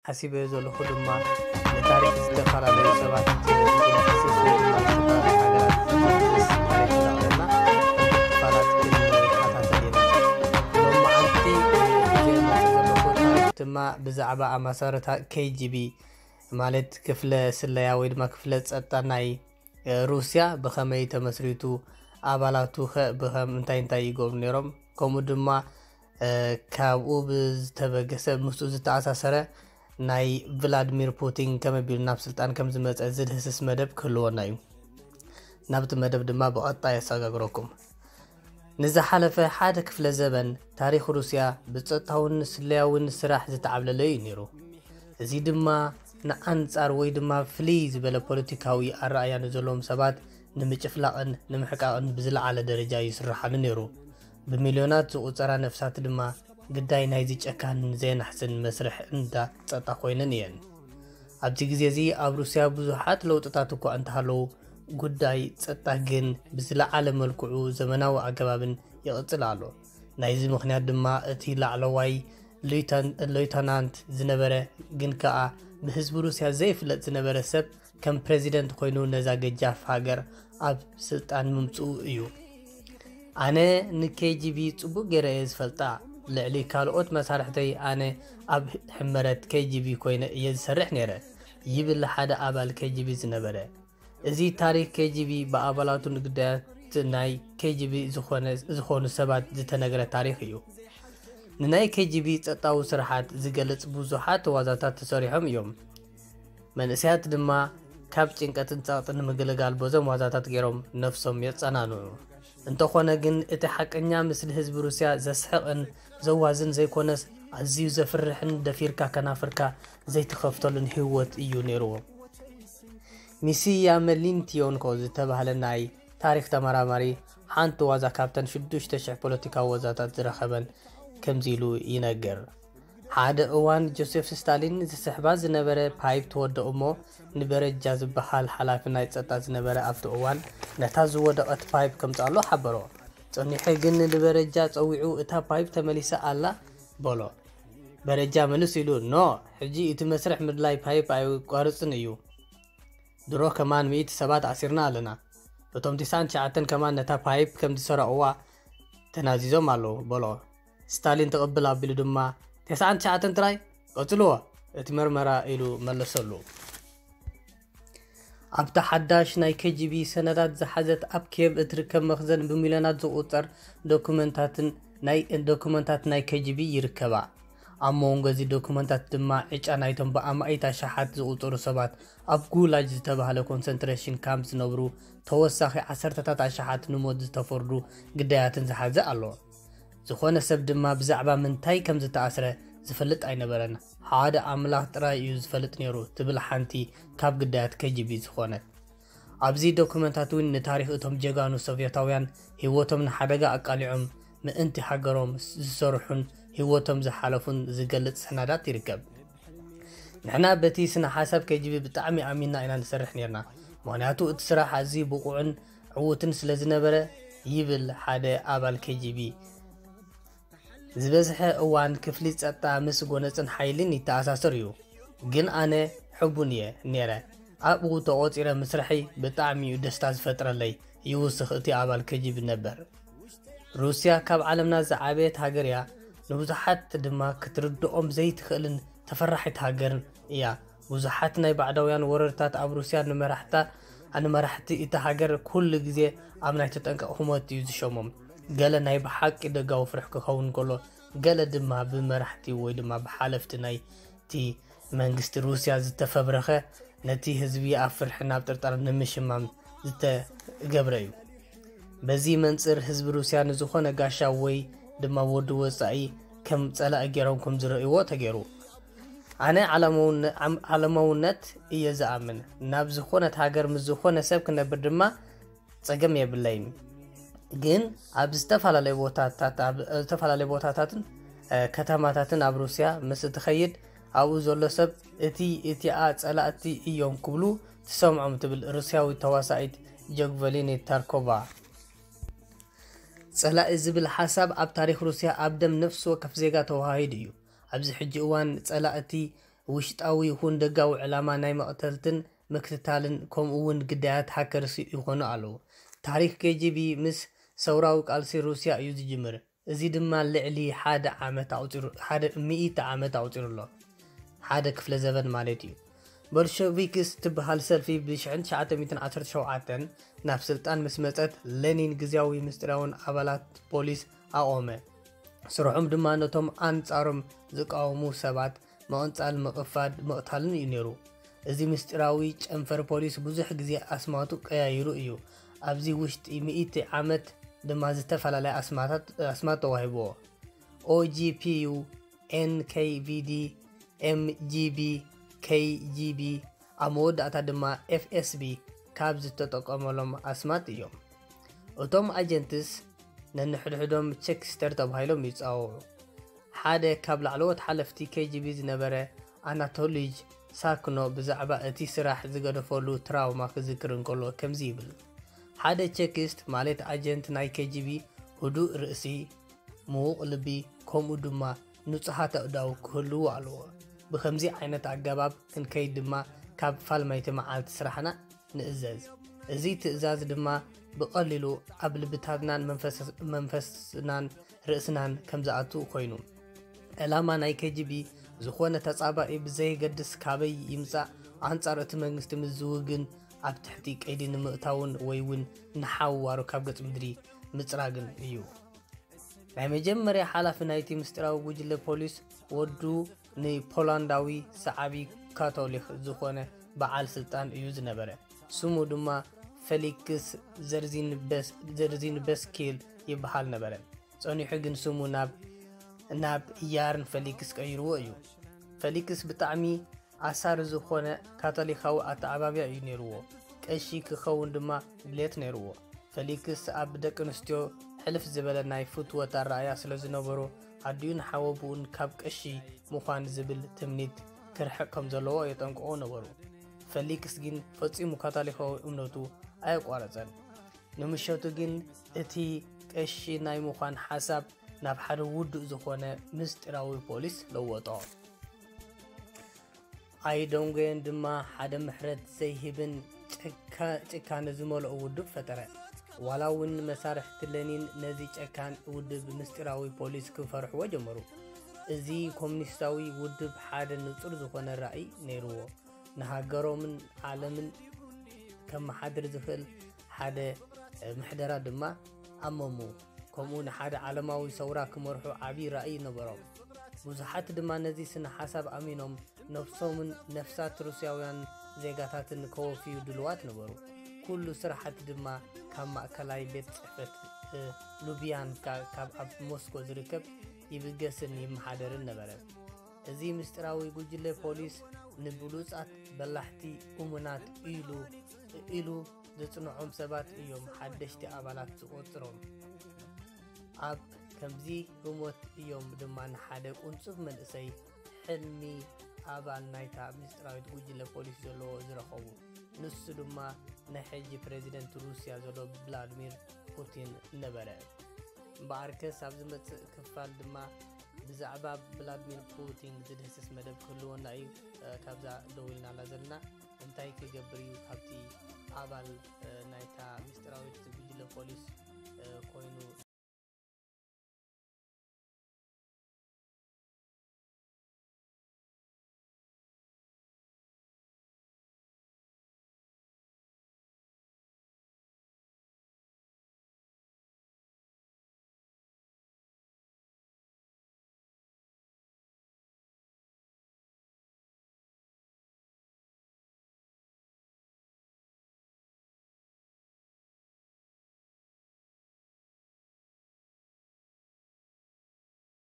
ሓሲበዮ ዘለኹ ድማ ንታሪኽ ዝተፈላለዩ ሰባት ዝነፍስስ ወይ ድማ ዝተፈላለዩ ሃገራት ዝምልስ ታሪኽ እንዳቕረብና ክፋላት ክንከታተል ኢና። ሎማዓንቲ ሒዘ መፅእ ዘለኹ ታሪኽ ድማ ብዛዕባ ኣማሳርታ ኬ ጂ ቢ ማለት ክፍለ ስለያ ወይ ድማ ክፍለ ፀጥታ ናይ ሩስያ ብኸመይ ተመስሪቱ፣ ኣባላቱ ኸ ብኸም እንታይ እንታይ ይገብሩ ነይሮም፣ ከምኡ ድማ ካብኡ ብዝተበገሰ ምስኡ ዝተኣሳሰረ ናይ ቭላድሚር ፑቲን ከመይ ኣቢሉ ናብ ስልጣን ከም ዝመፀ ዝድህስስ መደብ ክህልወና እዩ። ናብቲ መደብ ድማ ብቐጥታ የሰጋግረኩም። ንዝሓለፈ ሓደ ክፍለ ዘበን ታሪኽ ሩስያ ብጸጥታውን ስለያውን ስራሕ ዝተዓብለለ እዩ ነይሩ። እዚ ድማ ንኣንጻር ወይ ድማ ፍልይ ዝበለ ፖለቲካዊ ኣረኣእያ ንዘለዎም ሰባት ንምጭፍላቕን ንምሕቃቕን ብዝለዓለ ደረጃ ይስርሓሉ ነይሩ። ብሚልዮናት ዝቑጸራ ነፍሳት ድማ ግዳይ ናይዚ ጨካንን ዘየናሕስን መስርሕ እንዳ ጸጥታ ኮይነን እየን። ኣብዚ ግዜ እዚ ኣብ ሩስያ ብዙሓት ለውጥታት እኳ እንተሃለዉ፣ ጉዳይ ጸጥታ ግን ብዝለዓለ መልክዑ ዘመናዊ ኣገባብን ይቕጽል ኣሎ። ናይዚ ምኽንያት ድማ እቲ ላዕለዋይ ሉይተን-፣ ሉይተናንት ዝነበረ ግን ከኣ ብህዝቢ ሩስያ ዘይፍለጥ ዝነበረ ሰብ ከም ፕረዚደንት ኮይኑ ነዛ ገጃፍ ሃገር ኣብ ስልጣን ምምጽኡ እዩ። ኣነ ን ኬ ጂ ቢ ጽቡቕ ገይረ እየ ዝፈልጣ። ልዕሊ ካልኦት መሳርሕተይ ኣነ ኣብ ሕመረት ኬ ጂ ቢ ኮይነ እየ ዝሰርሕ ነይረ፣ ይብል ሓደ ኣባል ኬ ጂ ቢ ዝነበረ። እዚ ታሪኽ ኬ ጂ ቢ ብኣባላቱ ንግዳያት ናይ ኬ ጂ ቢ ዝኾነ-፣ ዝኾኑ ሰባት ዝተነግረ ታሪኽ እዩ። ንናይ ኬ ጂ ቢ ጸጥታዊ ስርሓት ዝገልጽ ብዙሓት ዋዛታት ተሰሪሖም እዮም። መንእሰያት ድማ ካብ ጭንቀትን ጸቕጥን ንምግልጋል በዞም ዋዛታት ገይሮም ነፍሶም የጸናንዑ። እንተኾነ ግን እቲ ሓቀኛ ምስሊ ህዝቢ ሩስያ ዘስሕቕን ዘዋዝን ዘይኮነስ ኣዝዩ ዘፍርሕን ደፊርካ ከናፍርካ ዘይትኸፍተሉን ህይወት እዩ ነይርዎ። ሚስያ መሊንቲዮንኮ ዝተባህለ ናይ ታሪኽ ተመራማሪ ሓንቲ ዋዛ ካብተን ሽዱሽተ ሽሕ ፖለቲካዊ ዋዛታት ዝረኸበን ከምዚ ኢሉ ይነግር። ሓደ እዋን ጆሴፍ ስታሊን ዝስሕባ ዝነበረ ፓይፕ ተወደኦ እሞ ንበረጃ ዝበሃል ሓላፊ ናይ ጸጥታ ዝነበረ ኣብቲ እዋን ነታ ዝወደቐት ፓይፕ ከምጽኣሉ ሓበሮ። ጸኒሑ ግን ንበረጃ ጸዊዑ እታ ፓይፕ ተመሊሳ ኣላ በሎ። በረጃ መልስ ኢሉ ኖ፣ ሕጂ እቲ መስርሕ ምድላይ ፓይፕ ኣይቋርጽን እዩ። ድሮ ከማን ሚእቲ ሰባት ኣሲርና ኣለና። እቶም ትስዓን ትሽዓተን ከማን ነታ ፓይፕ ከም ዝሰረቕዋ ተናዚዞም ኣለዉ በሎ። ስታሊን ትቕብል ኣቢሉ ድማ ተስዓን ትሽዓተን ጥራይ ቀጽልዎ እቲ መርመራ ኢሉ መለሰሉ። ኣብታ ሓዳሽ ናይ ኬ ጂ ቢ ሰነዳት ዝሓዘት ኣብ ኪየቭ እትርከብ መኽዘን ብሚልዮናት ዝቑጸር ዶኩመንታትን ናይ ዶኩመንታት ናይ ኬ ጂ ቢ ይርከባ። ኣብ መንጎ እዚ ዶኩመንታት ድማ ዕጫ ናይቶም ብኣማኢት ኣሽሓት ዝቑጸሩ ሰባት ኣብ ጉላጅ ዝተባህለ ኮንሰንትሬሽን ካምፕ ዝነብሩ ተወሳኺ ዓሰርተታት ኣሽሓት ንሞት ዝተፈርዱ ግዳያትን ዝሓዘ ኣሎ። ዝኾነ ሰብ ድማ ብዛዕባ ምንታይ ከም ዝተኣስረ ዝፈልጥ ኣይነበረን። ሓደ ኣምላኽ ጥራይ እዩ ዝፈልጥ ነይሩ ትብል ሓንቲ ካብ ግዳያት ኬ ጂ ቢ ዝኾነት። ኣብዚ ዶኩመንታት እውን ንታሪኽ እቶም ጀጋኑ ሶቭየታውያን ህይወቶም ንሓደጋ ኣቃሊዖም ምእንቲ ሃገሮም ዝሰርሑን ህይወቶም ዝሓለፉን ዝገልጽ ሰነዳት ይርከብ። ንሕና በቲ ስነ ሓሳብ ኬ ጂ ቢ ብጣዕሚ ኣሚንና ኢና ንሰርሕ ነይርና፣ ምኽንያቱ እቲ ስራሕ ኣዝዩ ብቑዕን ዕዉትን ስለ ዝነበረ፣ ይብል ሓደ ኣባል ኬ ጂ ቢ። ዝበዝሐ እዋን ክፍሊ ጸጥታ ምስ ጎነጽን ሓይልን ይተኣሳሰር እዩ፣ ግን ኣነ ሕቡን እየ ነይረ። ኣብኡ ተቖጺረ ምስርሐይ ብጣዕሚ እዩ ደስታ ዝፈጥረለይ፣ ይውስኽ እቲ ኣባል ኬ ጂ ቢ ነበር። ሩስያ ካብ ዓለምና ዝዓበየት ሃገር እያ፣ ንብዙሓት ድማ ክትርድኦም ዘይትኽእልን ተፈራሒት ሃገርን እያ። ብዙሓት ናይ ባዕዳውያን ወረርታት ኣብ ሩስያ ንመራሕታ፣ ንመራሕቲ እታ ሃገር ኩሉ ግዜ ኣብ ናይ ተጠንቀቕ ህሞት እዩ ዝሸሞም። ገለ ናይ ብሓቂ ደጋዊ ፍርሒ ክኸውን ከሎ፣ ገለ ድማ ብመራሕቲ ወይ ድማ ብሓለፍቲ ናይቲ መንግስቲ ሩስያ ዝተፈብረኸ፣ ነቲ ህዝቢ ኣብ ፍርሕን ኣብ ጥርጣረን ንምሽማም ዝተገብረ እዩ። በዚ መንጽር ህዝቢ ሩስያ ንዝኾነ ጋሻ ወይ ድማ ወዲ ወጻኢ ከም ጸላኢ ገይሮም ከም ዝርእይዎ ተገይሩ። ኣነ ዓለማውነ-፣ ዓም-፣ ዓለማውነት እየ ዝኣምን። ናብ ዝኾነት ሃገር ምስ ዝኾነ ሰብ ክነብር ድማ ጸገም የብለይን። ግን ኣብ ዝተፈላለየ ቦታታት፣ ኣብ ዝተፈላለየ ቦታታትን፣ እ፣ ከተማታትን ኣብ ሩስያ ምስ እትኸይድ ኣብኡ ዘሎ ሰብ እቲ፣ እቲኣ ጸላእቲ እዮም ክብሉ ትሰምዖም ትብል ሩስያዊት ተዋሳኢት ጆግቨሊኒ ታርኮቫ። ጸላኢ ዝብል ሓሳብ ኣብ ታሪኽ ሩስያ ኣብ ደም ነፍሲ ወከፍ ዜጋ ተዋሃሂዱ እዩ። ኣብዚ ሕጂ እዋን ጸላእቲ ውሽጣዊ ይኹን ደጋዊ ዕላማ ናይ መቕተልትን ምክትታልን ከምኡ እውን ግዳያት ሃከርስ ይኾኑ ኣለዉ። ታሪኽ ኬ ጂ ቢ ምስ ሰውራዊ ቃልሲ ሩስያ እዩ ዝጅምር። እዚ ድማ ልዕሊ ሓደ ዓመት ኣቑጺሩ፣ ሓደ ሚእቲ ዓመት ኣቑጺሩ ኣሎ። ሓደ ክፍለ ዘበን ማለት እዩ። ቦልሸቪክስ ትበሃል ሰልፊ ብ ትሽዓተ ሚእትን ዓሰርተ ሸውዓተን ናብ ስልጣን ምስ መጸት፣ ሌኒን ግዝያዊ ምስጢራውን ኣባላት ፖሊስ ኣቖመ። ስርሖም ድማ ነቶም ኣንጻሮም ዝቃወሙ ሰባት ምቕንጻል፣ ምቕፋድ፣ ምቕታልን እዩ ነይሩ። እዚ ምስጢራዊ ጨንፈር ፖሊስ ብዙሕ ግዜ ኣስማቱ ቀያይሩ እዩ። ኣብዚ ውሽጢ ሚእቲ ዓመት ድማ ዝተፈላለያ ኣስማታት፣ ኣስማት ተዋሂብዎ። ኦ ጂ ፒ ዩ፣ ኤን ኬ ቪ ዲ፣ ኤም ጂ ቢ፣ ኬ ጂ ቢ፣ ኣብ መወዳእታ ድማ ኤፍ ኤስ ቢ ካብ ዝተጠቀመሎም ኣስማት እዮም። እቶም ኣጀንትስ ነንሕድሕዶም ቸክስተር ተባሂሎም ይጸውዑ። ሓደ ካብ ላዕለዎት ሓለፍቲ ኬ ጂ ቢ ዝነበረ ኣናቶሊጅ ሳክኖ ብዛዕባ እቲ ስራሕ ዝገደፈሉ ትራውማ ክዝክር እንከሎ ከምዚ ይብል፣ ሓደ ቸኪስት ማለት ኣጀንት ናይ ኬ ጂ ቢ ህዱእ ርእሲ፣ ምዉቕ ልቢ፣ ከምኡ ድማ ንጹሃት ኣእዳው ክህልዎ ኣለዎ። ብኸምዚ ዓይነት ኣገባብ ክንከይድ ድማ ካብ ፋልማይቲ መዓልቲ ስራሕና ንእዘዝ። እዚ ትእዛዝ ድማ ብቐሊሉ ኣብ ልብታትናን መንፈስ-፣ መንፈስናን ርእስናን ከም ዝኣቱ ኮይኑ። ዕላማ ናይ ኬ ጂ ቢ ዝኾነ ተጻባኢ ብዘየገድስ ካበይ ይምጻእ ኣንጻር እቲ መንግስቲ ምስ ዝውግን ኣብ ትሕቲ ቀይዲ ንምእታውን ወይ እውን ንሓዋሩ ካብ ገጽ ምድሪ ምጽራግን እዩ። ናይ መጀመርያ ሓላፊ ናይቲ ምስጢራዊ ጉጅለ ፖሊስ ወዱ ንፖላንዳዊ ሰዓቢ ካቶሊክ ዝኾነ በዓል ስልጣን እዩ ዝነበረ። ስሙ ድማ ፌሊክስ ዘርዚንበስ-፣ ዘርዚንበስኪል ይበሃል ነበረ። ጸኒሑ ግን ስሙ ናብ፣ ናብ ያርን ፌሊክስ ቀይርዎ እዩ። ፌሊክስ ብጣዕሚ ኣሳሪ ዝኾነ ካቶሊካዊ ኣተዓባብያ እዩ ነይርዎ። ቀሺ ክኸውን ድማ ድሌት ነይርዎ። ፌሊክስ ኣብ ደቂ ኣንስትዮ ሕልፍ ዝበለ ናይ ፍትወት ኣረኣእያ ስለ ዝነበሮ፣ ኣዲኡን ሓወቦኡን ካብ ቀሺ ምዃን ዝብል ትምኒት ክርሕቕ ከም ዘለዎ የጠንቅቖ ነበሩ። ፌሊክስ ግን ፈጺሙ ካቶሊካዊ እምነቱ ኣየቋረጸን። ንምሸቱ ግን እቲ ቀሺ ናይ ምዃን ሓሳብ ናብ ሓደ ውዱእ ዝኾነ ምስጢራዊ ፖሊስ ለወጦ። ኣይዶንጎየን ድማ ሓደ ምሕረት ዘይህብን ጭካ-፣ ጭካነ ዝመልኦ ውድብ ፈጠረ። ዋላ እውን መሳርሕቲ ለኒን ነዚ ጨካን ውድብ ምስጢራዊ ፖሊስ ክፈርሕዎ ጀመሩ። እዚ ኮሙኒስታዊ ውድብ ሓደ ንጹር ዝኾነ ራእይ ነይርዎ። ንሃገሮምን ዓለምን ከመሓድር ዝኽእል ሓደ ምሕደራ ድማ ኣመሙ። ከምኡ ንሓደ ዓለማዊ ሰውራ ክመርሑ ዓቢ ራእይ ነበሮም። ብዙሓት ድማ ነዚ ስነ ሓሳብ ኣሚኖም ነፍሶምን ነፍሳት ሩስያውያን ዜጋታትን ከወፍዩ ድሉዋት ነበሩ። ኩሉ ስራሓት ድማ ካብ ማእከላይ ቤት ጽሕፈት፣ እ፣ ሉብያንካ ካብ ኣብ ሞስኮ ዝርከብ ይብገስን ይመሓደርን ነበረ። እዚ ምስጢራዊ ጉጅለ ፖሊስ ንብሉጻት በላሕቲ እሙናት ኢሉ፣ ኢሉ ዘጽንዖም ሰባት እዮም ሓደሽቲ ኣባላት ዝቖጽሮም። ኣብ ከምዚ ህሞት እዮም ድማ ንሓደ ቁንጹብ መንእሰይ ሕልሚ ኣባል ናይታ ምስጢራዊት ጉጅለ ፖሊስ ዘለዎ ዝረኸቡ። ንሱ ድማ ናይ ሕጂ ፕሬዚደንት ሩስያ ዘሎ ቭላድሚር ፑቲን ነበረ። እምበኣርከስ ኣብ ዝመጽእ ክፋል ድማ ብዛዕባ ቭላድሚር ፑቲን ዝድህስስ መደብ ክህልወና እዩ። እ፣ ካብዛ ደው ኢልናላ ዘለና እንታይ ክገብር እዩ ካብቲ ኣባል፣ እ፣ ናይታ ምስጢራዊት ጉጅለ ፖሊስ፣ እ፣ ኮይኑ